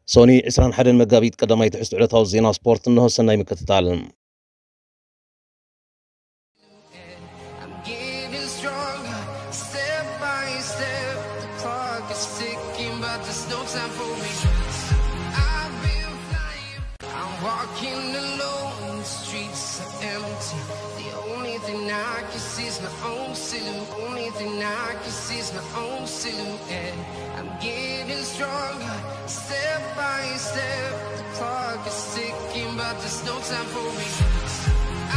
ሶኒ ዕስራን ሓደን መጋቢት ቀዳማይ ትሕዝቶ ዕለታዊ ዜና ስፖርት እንሆ። ሰናይ ምክትታል። I'm getting stronger, step by step. The clock is ticking, but there's no time for me. I've been flying, I'm walking alone, the streets are empty. The only thing I can see is my own silhouette. Only thing I can see is my own silhouette. I'm getting stronger, step by step. The clock is ticking, but there's no time for me.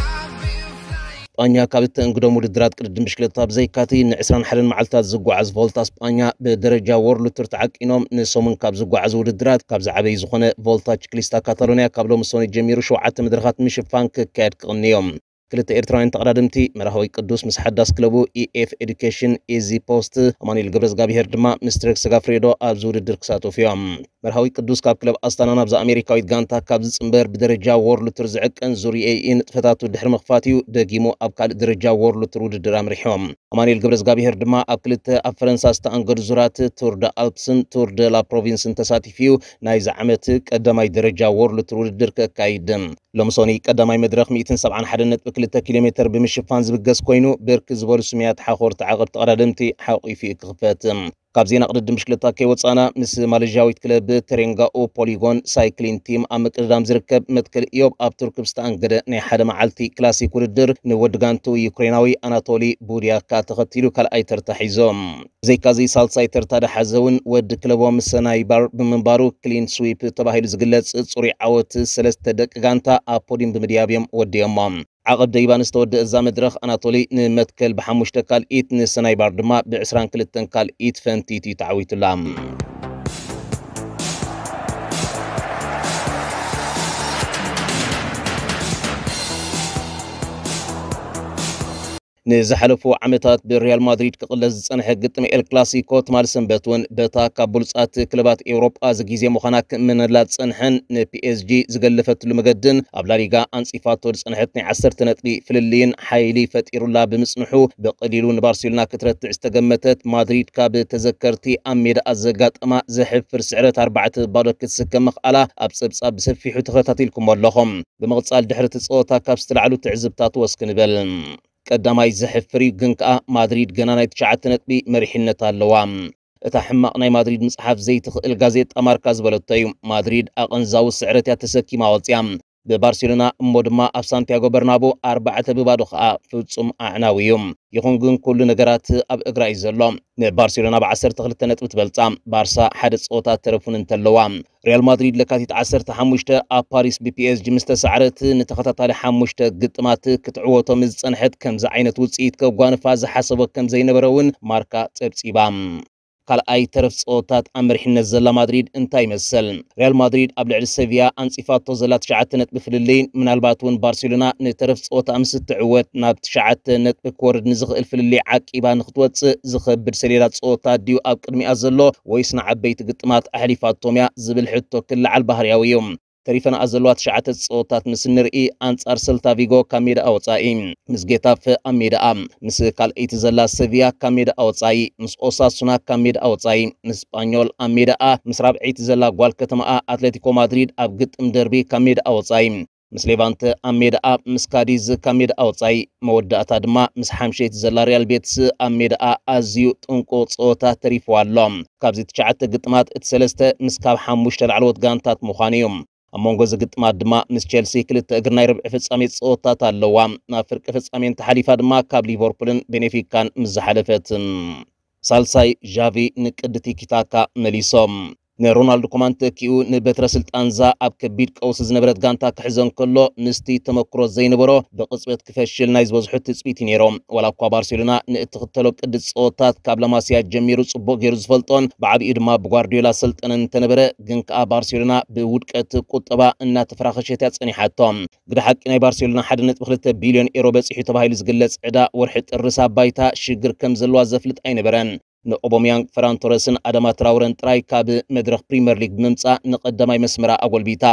I've been flying. ስጳኛ ካብ እተእንግዶም ውድድራት ቅድድም ብሽክለታ ብዘይካቲ ንዕስራን ሓደን መዓልታት ዝጓዓዝ ቮልታ ስጳኛ ብደረጃ ወርልድ ቱር ተዓቂኖም ንሰሙን ካብ ዝጓዓዙ ውድድራት ካብ ዝዓበዩ ዝኾነ ቮልታ ቺክሊስታ ካታሎኒያ ካብ ሎሚ ሰኑይ ጀሚሩ ሸውዓተ መድረኻት ምሽፋን ክካየድ ክቕንዮም። ክልተ ኤርትራውያን ተቐዳደምቲ መርሃዊ ቅዱስ ምስ ሓዳስ ክለቡ ኢኤፍ ኤዱኬሽን ኢዚ ፖስት ኣማኑኤል ገብረዝጋብሄር ድማ ምስ ትሬክ ሰጋፍሬዶ ኣብዚ ውድድር ክሳተፉ እዮም። መርሃዊ ቅዱስ ካብ ክለብ ኣስታና ናብዛ ኣሜሪካዊት ጋንታ ካብ ዝጽንበር ብደረጃ ወርልድ ቱር ዝዕቀን ዙር ኤኢ ንጥፈታቱ ድሕሪ ምኽፋት እዩ ደጊሙ ኣብ ካልእ ደረጃ ወርልድ ቱር ውድድር ኣምሪሖም። ኣማኑኤል ገብረዝጋብሄር ድማ ኣብ ክልተ ኣብ ፈረንሳ ዝተኣንገዱ ዙራት ቱር ደ ኣልፕስን ቱር ደ ላ ፕሮቪንስን ተሳቲፉ እዩ ናይዚ ዓመት ቀዳማይ ደረጃ ወርልድ ቱር ውድድር ከካይድ። ሎምሶኒ ቀዳማይ መድረኽ ሚእትን ሰብዓን ሓደን ነጥቢ ክልተ ኪሎ ሜትር ብምሽፋን ዝብገስ ኮይኑ ብርክ ዝበሉ ስሙያት ሓኾር ተዓቐብ ተቐዳደምቲ ሓቑፉ እዩ ክኽፈት። ካብ ዜና ቅድድም ብሽክለታ ከይወፃና ምስ ማሌዥያዊት ክለብ ተሬንጋኡ ፖሊጎን ሳይክሊን ቲም ኣብ ምቅድዳም ዝርከብ መትከል ኢዮብ ኣብ ቱርክ ብዝተኣንገደ ናይ ሓደ መዓልቲ ክላሲክ ውድድር ንወዲ ጋንቱ ዩክሬናዊ ኣናቶሊ ቡድያካ ተኸቲሉ ካልኣይ ተርታ ሒዞም። ብዘይካዚ ሳልሳይ ተርታ ደሓዘ እውን ወዲ ክለቦም ሰናይባር ብምንባሩ ክሊን ስዊፕ ተባሂሉ ዝግለጽ ጽሩይ ዓወት ሰለስተ ደቂ ጋንታ ኣብ ፖዲም ብምድያብ እዮም ወዲኦሞ። ዓቐብ ደይባ ንዝተወደእ እዛ መድረኽ ኣናቶሊ ንመትከል ብሓሙሽተ ካልኢት ንሰናይባር ድማ ብዕስራን ክልተን ካልኢት ፈንቲት እዩ ተዓዊቱላ። ንዝሓለፉ ዓመታት ብሪያል ማድሪድ ክቕለስ ዝጸንሐ ግጥም ኤል ክላሲኮ ትማሊ ሰንበት እውን በታ ካብ ብሉጻት ክለባት ኤውሮጳ ዝጊዜ ምዃና ክእመነላ ዝጸንሐን ንፒኤስጂ ዝገለፈትሉ መገድን ኣብ ላሊጋ ኣንጺፋቶ ዝጸንሐት ናይ ዓሰርተ ነጥቢ ፍልልይን ሓይሊ ፈጢሩላ ብምጽንሑ ብቐሊሉ ንባርሴሎና ክትረትዕ ዝተገመተት ማድሪድ ካብ ተዘከርቲ ኣብ ሜዳኣ ዘጋጠማ ዘሕፍር ስዕረት ኣርባዕተ ባዶ ክትስከም ምኽኣላ ኣብ ጸብጻብ ብሰፊሑ ተኸታቲልኩሞ ኣለኹም። ብምቕጻል ድሕሪ እቲ ጸወታ ካብ ዝተላዕሉ ትዕዝብታት ወስ ክንበል። ቀዳማይ ዘሕፍር እዩ፣ ግን ከኣ ማድሪድ ገና ናይ ትሽዓተ ነጥቢ መሪሕነት ኣለዋ። እታ ሕማቕ ናይ ማድሪድ ምጽሓፍ ዘይትኽእል ጋዜጣ ማርካ ዝበለቶ እዩ። ማድሪድ ኣቐንዛዊ ስዕረት እያ ተሰኪማ ወጽያ። ብባርሴሎና እሞ ድማ ኣብ ሳንቲያጎ በርናቦ ኣርባዕተ ብባዶ ከኣ ፍጹም ኣዕናዊ እዩ። ይኹን ግን ኩሉ ነገራት ኣብ እግራ እዩ ዘሎ። ንባርሴሎና ብ ዓሰርተ ክልተ ነጥቢ ትበልጻ፣ ባርሳ ሓደ ጸወታ ተረፉን እንተለዋ። ሪያል ማድሪድ ለካቲት ዓሰርተ ሓሙሽተ ኣብ ፓሪስ ብፒኤስጂ ምስ ተሳዕረት ንተኸታታሊ ሓሙሽተ ግጥማት ክትዕወቶ ምስ ዝጸንሐት ከምዚ ዓይነት ውጽኢት ከጓንፋ ዝሓሰቦ ከም ዘይነበረ እውን ማርካ ጸብጺባ። ካልኣይ ተረፍ ጸወታት ኣብ መሪሕነት ዘላ ማድሪድ እንታይ ይመስል? ሪያል ማድሪድ ኣብ ልዕሊ ሰቪያ ኣንጺፋቶ ዘላ ትሽዓተ ነጥቢ ፍልልይ ምናልባት እውን ባርሴሎና ንተረፍ ጸወታ ምስ እትዕወት ናብ ትሽዓተ ነጥቢ ክወርድ ንዝኽእል ፍልልይ ዓቂባ ንክትወጽእ ዝኸብድ ሰሌዳ ጸወታ ድዩ ኣብ ቅድሚኣ ዘሎ ወይስ ንዓበይቲ ግጥማት ኣሕሊፋቶም እያ ዝብል ሕቶ ክለዓል ባህርያዊ እዩ። ተሪፈናኣ ዘለዋ ትሽዓተ ጸወታት ምስ እንርኢ ኣንጻር ሰልታ ቪጎ ካብ ሜዳኣ ወጻኢ፣ ምስ ጌታፈ ኣብ ሜዳኣ፣ ምስ ካልኣይቲ ዘላ ሰቪያ ካብ ሜዳኣ ወጻኢ፣ ምስ ኦሳሱና ካብ ሜዳኣ ወጻኢ፣ ምስ ስጳኞል ኣብ ሜዳኣ፣ ምስ ራብዐይቲ ዘላ ጓል ከተማኣ ኣትሌቲኮ ማድሪድ ኣብ ግጥም ደርቢ ካብ ሜዳኣ ወጻኢ፣ ምስ ሌቫንተ ኣብ ሜዳኣ፣ ምስ ካዲዝ ካብ ሜዳኣ ወጻኢ፣ መወዳእታ ድማ ምስ ሓምሸይቲ ዘላ ሪያል ቤትስ ኣብ ሜዳኣ ኣዝዩ ጥንቁቕ ጸወታ ተሪፍዋ ኣሎ። ካብዚ ትሽዓተ ግጥማት እቲ ሰለስተ ምስ ካብ ሓሙሽተ ላዕለዎት ጋንታት ምዃኑ እዩ። ኣብ መንጎ እዚ ግጥማት ድማ ምስ ቸልሲ ክልተ እግሪ ናይ ርብዒ ፍጻሜ ጸወታት ኣለዋ። ናብ ፍርቂ ፍጻሜ እንተሓሊፋ ድማ ካብ ሊቨርፑልን ቤኔፊካን ምስ ዝሓለፈት። ሳልሳይ ዣቪ ንቅዲ ቲኪታካ መሊሶም። ንሮናልዶ ኮማን ተኪኡ ንበትረ ስልጣንዛ ኣብ ከቢድ ቀውሲ ዝነበረት ጋንታ ክሕዘ እንከሎ ምስቲ ተመክሮ ዘይነበሮ ብቕጽበት ክፈሽል ናይ ዝበዝሑ ትጽቢት እዩ ነይሮም። ዋላ እኳ ባርሴሎና ንእትኽተሎ ቅዲ ጸወታት ካብ ላማሲያ ጀሚሩ ጽቡቕ ገይሩ ዝፈልጦን ብዓቢኡ ድማ ብጓርዲዮላ ሰልጠነን እንተነበረ ግን ከኣ ባርሴሎና ብውድቀት ቁጠባ እናተፈራኸሸት እያ ጸኒሓቶ። ግደ ሓቂ ናይ ባርሴሎና ሓደ ነጥቢ ክልተ ቢልዮን ኤሮ በጺሑ ተባሂሉ ዝግለጽ ዕዳ ወርሒ ጥሪ ሳብ ባይታ ሽግር ከም ዘለዋ ዘፍልጥ ኣይነበረን። ንኦቦሚያንግ፣ ፈራን ቶረስን ኣዳማ ትራውረን ጥራይ ካብ መድረኽ ፕሪምየር ሊግ ብምምጻእ ንቐዳማይ መስመራ ኣጎልቢታ።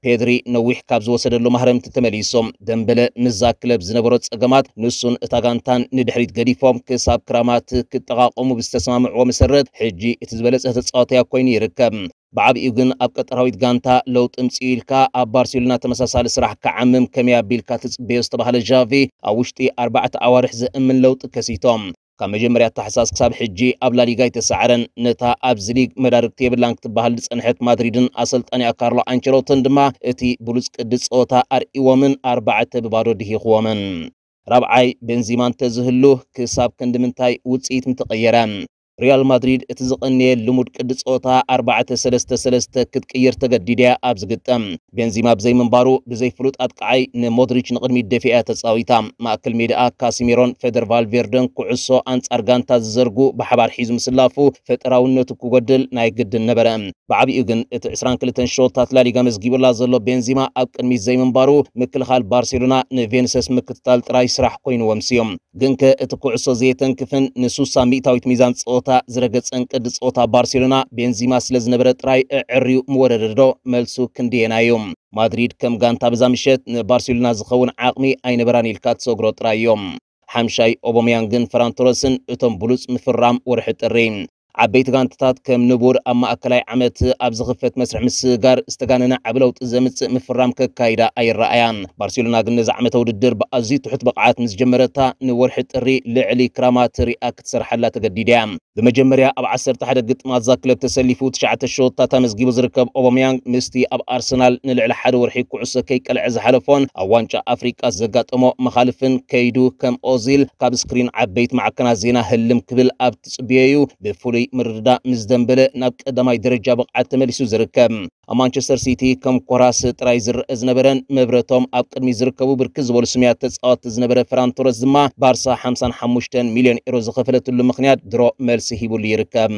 ፔድሪ ነዊሕ ካብ ዝወሰደሉ ማህረምቲ ተመሊሶም ደምበለ ምስዛ ክለብ ዝነበሮ ጸገማት ንሱን እታ ጋንታን ንድሕሪት ገዲፎም ክሳብ ክራማት ክጠቓቐሙ ብዝተሰማምዕዎ መሰረት ሕጂ እቲ ዝበለጸ ተጻዋትያ ኮይኑ ይርከብ። ብዓቢኡ ግን ኣብ ቀጠራዊት ጋንታ ለውጢ ምጽኡ ኢልካ ኣብ ባርሴሎና ተመሳሳሊ ስራሕ ክዓምም ከመይ ኣቢልካ ትጽበዮ ዝተባህለ ዣቪ ኣብ ውሽጢ ኣርባዕተ ኣዋርሕ ዘእምን ለውጢ ከሲቶም። ካብ መጀመርያ ታሕሳስ ክሳብ ሕጂ ኣብ ላሊጋ ኣይተሳዕረን። ነታ ኣብዚ ሊግ መዳርግቲ የብላን ክትበሃል ዝጸንሐት ማድሪድን ኣሰልጣኒኣ ካርሎ ኣንቸሎትን ድማ እቲ ብሉጽ ቅዲ ጸወታ ኣርእይዎምን ኣርባዕተ ብባዶ ድሂኽዎምን። ራብዓይ ቤንዚማ እንተዝህሉ ክሳብ ክንዲ ምንታይ ውጽኢት ምተቐየረ። ሪያል ማድሪድ እቲ ዝቐነየ ልሙድ ቅዲ ጸወታ ኣርባዕተ ሰለስተ ሰለስተ ክትቅይር ተገዲዳ እያ ኣብ ዝግጠም። ቤንዚማ ብዘይምንባሩ ብዘይ ፍሉጥ ኣጥቃዓይ ንሞድሪች ንቕድሚት ደፊኣ እያ ተጻዊታ። ማእከል ሜዳኣ ካሲሜሮን ፌደር ቫልቬርደን ኩዕሶ ኣንጻር ጋንታ ዝዘርጉ ብሓባር ሒዙ ምስላፉ ፈጠራውነቱ ክጎድል ናይ ግድን ነበረ። ብዓቢኡ ግን እቲ ዕስራን ክልተን ሸወታት ላሊጋ መዝጊቡላ ዘሎ ቤንዚማ ኣብ ቅድሚት ዘይምንባሩ ምክልኻል ባርሴሎና ንቬንሰስ ምክትታል ጥራይ ስራሕ ኮይኑ ወምስዮም። ግንከ እቲ ኩዕሶ ዘየተንክፍን ንሱሳ ሚእታዊት ሚዛን ጸወታ ዝረገጸን ቅዲ ጸወታ ባርሴሎና ቤንዚማ ስለ ዝነበረ ጥራይ እዕርዩ ምወረደዶ? መልሱ ክንድየና እዩ። ማድሪድ ከም ጋንታ በዛ ምሸት ንባርሴሎና ዝኸውን ዓቕሚ ኣይነበራን ኢልካ ትሰግሮ ጥራይ እዮም። ሓምሻይ ኦቦምያንግን ፈራን ቶረስን እቶም ብሉጽ ምፍራም ወርሒ ጥሪ። ዓበይቲ ጋንታታት ከም ንቡር ኣብ ማእከላይ ዓመት ኣብ ዝኽፈት መስርሕ ምስግጋር ዝተጋነነ ዓቢ ለውጢ ዘምጽእ ምፍራም ከካይዳ ኣይረኣያን። ባርሴሎና ግን ነዚ ዓመተ ውድድር ብኣዝዩ ትሑት ብቕዓት ምስ ጀመረታ ንወርሒ ጥሪ ልዕሊ ክራማት ሪኣ ክትሰርሓላ ተገዲዳ እያ። ብመጀመርያ ኣብ ዓሰርተ ሓደ ግጥማት እዛ ክለብ ተሰሊፉ ትሽዓተ ሸወታት ኣመዝጊቡ ዝርከብ ኦቦምያንግ ምስቲ ኣብ ኣርሰናል ንልዕሊ ሓደ ወርሒ ኩዕሶ ከይቀልዐ ዝሓለፎን ኣብ ዋንጫ ኣፍሪቃ ዘጋጠሞ መኻልፍን ከይዱ ከም ኦዚል ካብ ስክሪን ዓበይቲ ማዕከናት ዜና ህልም ክብል ኣብ ትጽብዮ እዩ ብፍሉይ ምርድዳእ ምስ ደምበለ ናብ ቀዳማይ ደረጃ ብቕዓት ተመሊሱ ዝርከብ። ኣብ ማንቸስተር ሲቲ ከም ኮራስ ጥራይ ዝረአ ዝነበረን መብረቶም ኣብ ቅድሚ ዝርከቡ ብርክት ዝበሉ ስሙያት ተጻወትቲ ዝነበረ ፈራን ቶረስ ድማ ባርሳ ሓምሳን ሓሙሽተን ሚልዮን ኤሮ ዝኸፈለትሉ ምኽንያት ድሮ መልሲ ሂቡሉ ይርከብ።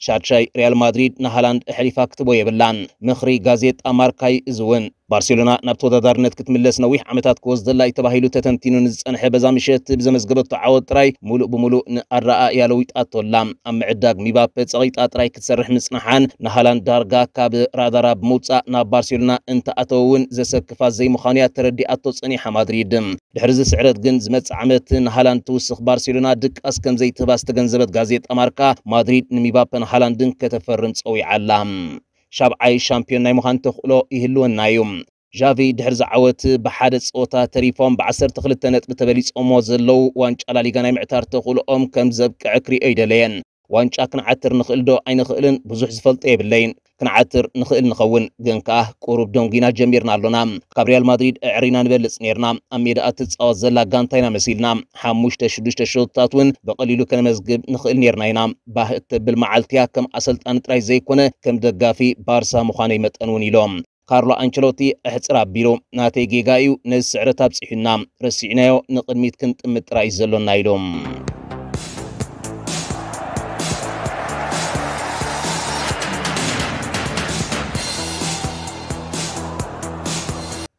ሻድሻይ ሪያል ማድሪድ ንሃላንድ ኣሕሊፋ ክትቦ የብላን። ምኽሪ ጋዜጣ ማርካይ እዚ እውን ባርሴሎና ናብ ተወዳዳርነት ክትምለስ ነዊሕ ዓመታት ክወስደላ እዩ ተባሂሉ ተተንቲኑ ንዝጸንሐ በዛ ምሸት ብዘመዝገበቶ ዓወት ጥራይ ሙሉእ ብሙሉእ ንኣረኣእያ ለዊጣቶ ኣላ። ኣብ ምዕዳግ ሚባፔ ጸቒጣ ጥራይ ክትሰርሕ ምጽንሓን ንሃላንድ ዳርጋ ካብ ራዳራ ብምውጻእ ናብ ባርሴሎና እንተኣተወ እውን ዘሰክፋ ዘይምዃኑ እያ ተረዲኣቶ ጸኒሓ ማድሪድ። ድሕሪ እዚ ስዕረት ግን ዝመጽእ ዓመት ንሃላንድ ትውስኽ ባርሴሎና ድቃስ ከም ዘይትህባ ዝተገንዘበት ጋዜጣ ማርካ ማድሪድ ንሚባፔን ሃላንድን ከተፈርም ጸዊዓ ኣላ። ሻብዓይ ሻምፒዮን ናይ ምዃን ተኽእሎ ይህልወና እዩ። ዣቪ ድሕሪ ዝዓወት ብሓደ ጸወታ ተሪፎም ብ ዓሰርተ ክልተ ነጥቢ ተበሊጾሞ ዘለዉ ዋንጫ ላሊጋ ናይ ምዕታር ተኽእሎኦም ከም ዘብቅዐ ክሪኦ ይደለየን። ዋንጫ ክንዓትር ንኽእል ዶ ኣይንኽእልን ብዙሕ ዝፈልጦ የብለይን። ክንዓትር ንኽእል ንኸውን፣ ግን ከኣ ቁሩብ ደንጒና ጀሚርና ኣሎና። ካብ ሪያል ማድሪድ ኣዕሪና ንበልጽ ኔርና። ኣብ ሜዳኣ ትጻወት ዘላ ጋንታ ኢና መሲልና። ሓሙሽተ ሽዱሽተ ሸቶታት እውን ብቐሊሉ ከነመዝግብ ንኽእል ኔርና ኢና። ባህ እተብል መዓልቲ እያ፣ ከም ኣሰልጣኒ ጥራይ ዘይኮነ ከም ደጋፊ ባርሳ ምዃነይ መጠን እውን ኢሎም። ካርሎ ኣንቸሎቲ ኣሕጽር ኣቢሉ፣ ናተይ ጌጋ እዩ፣ ነዚ ስዕረት ኣብጺሑና፣ ረሲዕናዮ፣ ንቕድሚት ክንጥምት ጥራይ እዩ ዘሎና ኢሉ።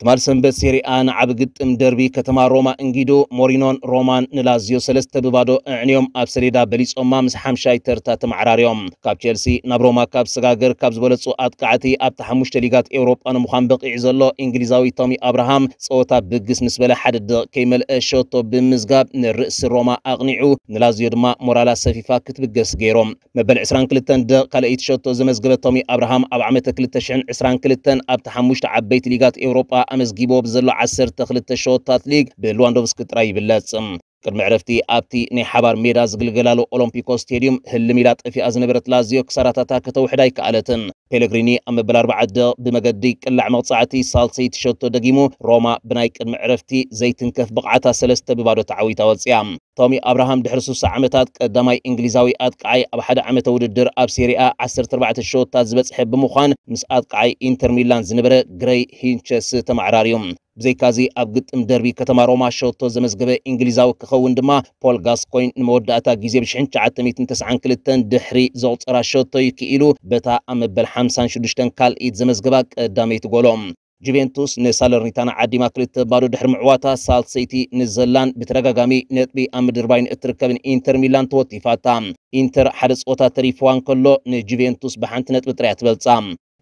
ትማል ሰንበት ሴሪኣ ንዓቢ ግጥም ደርቢ ከተማ ሮማ እንጊዶ ሞሪኖን ሮማን ንላዚዮ ሰለስተ ብባዶ ኣዕንዮም ኣብ ሰሌዳ በሊጾማ ምስ ሓምሻይ ተርታ ተመዓራርዮም። ካብ ቸልሲ ናብ ሮማ ካብ ሰጋገር ካብ ዝበለጹ ኣጥቃዕቲ ኣብቲ ሓሙሽተ ሊጋት ኤውሮጳ ንምዃን በቒዑ ዘሎ እንግሊዛዊ ቶሚ ኣብርሃም ጸወታ ብግስ ምስ በለ ሓደ ደቂቕ ከይመልአ ሸቶ ብምዝጋብ ንርእሲ ሮማ ኣቕኒዑ ንላዚዮ ድማ ሞራላ ሰፊፋ ክትብገስ ገይሮም። መበል ዕስራን ክልተን ደቂቕ ካልኣይቲ ሸቶ ዘመዝገበ ቶሚ ኣብርሃም ኣብ ዓመተ ክልተ ሽሕን ዕስራን ክልተን ኣብቲ ሓሙሽተ ዓበይቲ ሊጋት ኤውሮጳ ኣመዝጊብዎ ብዘሎ ዓሰርተ ክልተ ሸቶታት ሊግ ብልዋንዶቭስኪ ጥራይ ይብለጽ። ቅድሚ ዕረፍቲ ኣብቲ ናይ ሓባር ሜዳ ዝግልገላሉ ኦሎምፒኮ ስቴድዩም ህልም ኢላ ጠፊኣ ዝነበረት ላዚዮ ክሳራታታ ከተውሕድ ኣይከኣለትን። ፔለግሪኒ ኣብ መበል ኣርባዓ ደቕ ብመገዲ ቅላዕ መቕጻዕቲ ሳልሰይቲ ሸቶ ደጊሙ ሮማ ብናይ ቅድሚ ዕረፍቲ ዘይትንከፍ ብቕዓታ ሰለስተ ብባዶ ተዓዊታ ወጺኣ። ቶሚ ኣብርሃም ድሕሪ ስሳ ዓመታት ቀዳማይ እንግሊዛዊ ኣጥቃዓይ ኣብ ሓደ ዓመተ ውድድር ኣብ ሴሪኣ ዓሰርተ ኣርባዕተ ሸቶታት ዝበጽሐ ብምዃን ምስ ኣጥቃዓይ ኢንተር ሚላን ዝነበረ ግረይ ሂንቸስ ተመዓራርዩ። ብዘይካዚ ኣብ ግጥም ደርቢ ከተማ ሮማ ሸቶ ዘመዝገበ እንግሊዛዊ ክኸውን ድማ ፖል ጋስኮይን ንመወዳእታ ግዜ ብ ሽሕን ትሽዓተ ሚእትን ተስዓን ክልተን ድሕሪ ዘቑጸራ ሸቶ እዩ ክኢሉ በታ ኣብ መበል ሓምሳን ሽዱሽተን ካልኢት ዘመዝገባ ቀዳመይቲ ጎሎ። ጁቬንቱስ ንሳለርኒታና ዓዲማ ክልተ ባዶ ድሕሪ ምዕዋታ ሳልሰይቲ ንዘላን ብተደጋጋሚ ነጥቢ ኣብ ምድርባይ ንእትርከብን ኢንተር ሚላን ተወቲፋታ። ኢንተር ሓደ ጸወታ ተሪፍዋ እንከሎ ንጁቬንቱስ ብሓንቲ ነጥቢ ጥራይ እያ ትበልጻ።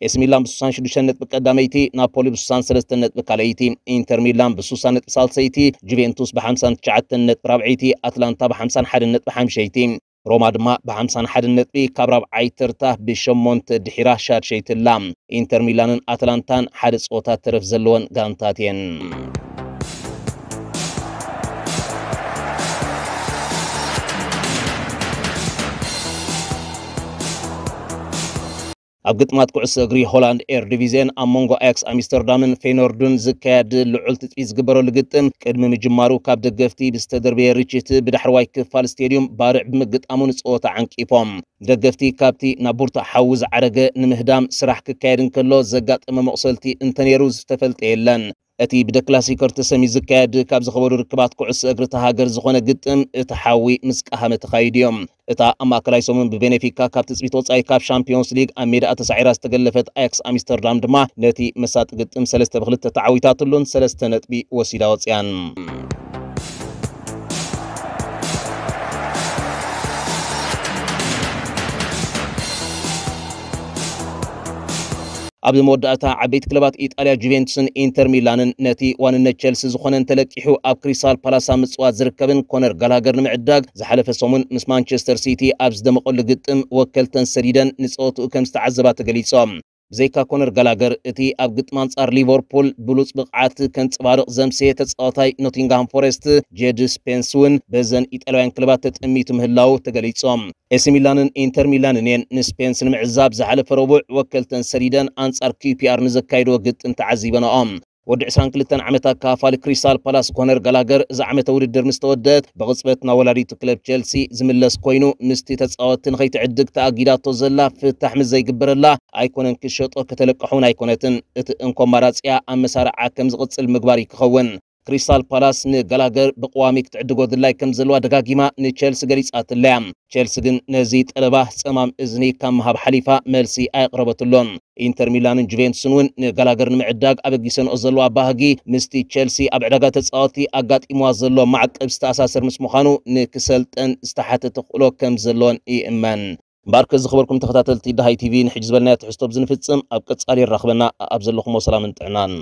ኤሲ ሚላን ብ66 ነጥቢ ቀዳመይቲ፣ ናፖሊ ብ63 ነጥቢ ካልኣይቲ፣ ኢንተር ሚላን ብ60 ነጥቢ ሳልሰይቲ፣ ጁቬንቱስ ብ59 ነጥቢ ራብዐይቲ፣ ኣትላንታ ብ51 ነጥቢ ሓምሸይቲ፣ ሮማ ድማ ብ51 ነጥቢ ካብ ራብዓይ ተርታ ብሸሞንተ ድሒራ ሻድሸይቲ ኣላ። ኢንተር ሚላንን ኣትላንታን ሓደ ጸወታ ተረፍ ዘለወን ጋንታት እየን። ኣብ ግጥማት ኩዕሶ እግሪ ሆላንድ ኤርዲቪዝየን ኣብ መንጎ ኣያክስ ኣምስተርዳምን ፌኖርዱን ዝካየድ ልዑል ትጽቢት ዝግበረሉ ግጥም ቅድሚ ምጅማሩ ካብ ደገፍቲ ብዝተደርበየ ርችት ብዳሕረዋይ ክፋል ስቴድዩም ባርዕ ብምግጣሙ ንጸወታ ዓንቂፎም። ደገፍቲ ካብቲ ናብ ቡርቱዕ ሓዊ ዝዓረገ ንምህዳም ስራሕ ክካየድ እንከሎ ዘጋጠመ መቑሰልቲ እንተነይሩ ዝተፈልጠ የለን። እቲ ብደ ክላሲከር ተሰምዩ ዝካየድ ካብ ዝኸበዱ ርክባት ኩዕሶ እግሪ እታ ሃገር ዝኾነ ግጥም እቲ ሓዊ ምስ ቀሃመ ተኻይዱ እዮም። እታ ኣብ ማእከላይ ሰሙን ብቤኔፊካ ካብ ትጽቢት ወጻኢ ካብ ሻምፒዮንስ ሊግ ኣብ ሜዳኣ ተሳዒራ ዝተገለፈት ኣያክስ ኣምስተርዳም ድማ ነቲ መሳጢ ግጥም ሰለስተ ብ2 ተዓዊታትሉን ሰለስተ ነጥቢ ወሲዳ ወጽያን። ኣብ መወዳእታ ዓበይቲ ክለባት ኢጣልያ ጁቬንቱስን ኢንተር ሚላንን ነቲ ዋንነት ቸልሲ ዝኾነ እንተለቂሑ ኣብ ክሪስታል ፓላስ ኣብ ምጽዋት ዝርከብን ኮነር ጋላገር ንምዕዳግ ዝሓለፈ ሰሙን ምስ ማንቸስተር ሲቲ ኣብ ዝደመቐሉ ግጥም ወከልተን ሰዲደን ንጸወትኡ ከም ዝተዓዘባ ተገሊጾም። ብዘይካ ኮነር ጋላገር እቲ ኣብ ግጥም ኣንጻር ሊቨርፑል ብሉጽ ብቕዓት ከንጸባርቕ ዘምሰየ ተጻዋታይ ኖቲንግሃም ፎረስት ጄድ ስፔንስ እውን በዘን ኢጣልያውያን ክለባት ተጠሚቱ ምህላው ተገሊጾም። ኤሲ ሚላንን ኢንተር ሚላንን እየን ንስፔንስ ንምዕዛብ ዝሓለፈ ረቡዕ ወከልተን ሰዲደን ኣንጻር ኪውፒኣር ንዘካይድዎ ግጥም ተዓዚበንኦም። ወዲ 22 ዓመት ኣካፋሊ ክሪስታል ፓላስ ኮነር ጋላገር እዛ ዓመተ ውድድር ምስ ተወደአት ብቕጽበት ናብ ወላዲቱ ክለብ ቸልሲ ዝምለስ ኮይኑ ምስቲ ተጻወትቲ ንኸይትዕድግ ተኣጊዳቶ ዘላ ፍታሕ ምስ ዘይግበረላ ኣይኮነን ክሸጦ ከተለቅሖ እውን ኣይኮነትን። እቲ እንኮ ኣማራጺኣ ኣብ መሳርዓ ከም ዝቕጽል ምግባር እዩ ክኸውን። ክሪስታል ፓላስ ንጋላገር ብቐዋሚ ክትዕድጎ ድላይ ከም ዘለዋ ደጋጊማ ንቸልሲ ገሊጻትለያ። ቸልሲ ግን ነዚ ጠለባ ጸማም እዝኒ ካብ ምሃብ ሓሊፋ መልሲ ኣየቕረበትሎን። ኢንተር ሚላንን ጁቬንቱስን እውን ንጋላገር ንምዕዳግ ኣበጊሰንኦ ዘለዋ ባህጊ ምስቲ ቸልሲ ኣብ ዕዳጋ ተጻወቲ ኣጋጢምዋ ዘሎ ማዕቀብ ዝተኣሳሰር ምስ ምዃኑ ንክሰልጠን ዝተሓተ ተኽእሎ ከም ዘለዎን ይእመን። እምበኣርከ ዝኸበርኩም ተኸታተልቲ ደሃይ ቲቪ ንሕጂ ዝበልናዮ ትሕዝቶ ብዝንፍጽም ኣብ ቀጻሊ የራኽበና ኣብ ዘለኹሞ ሰላምን ጥዕናን።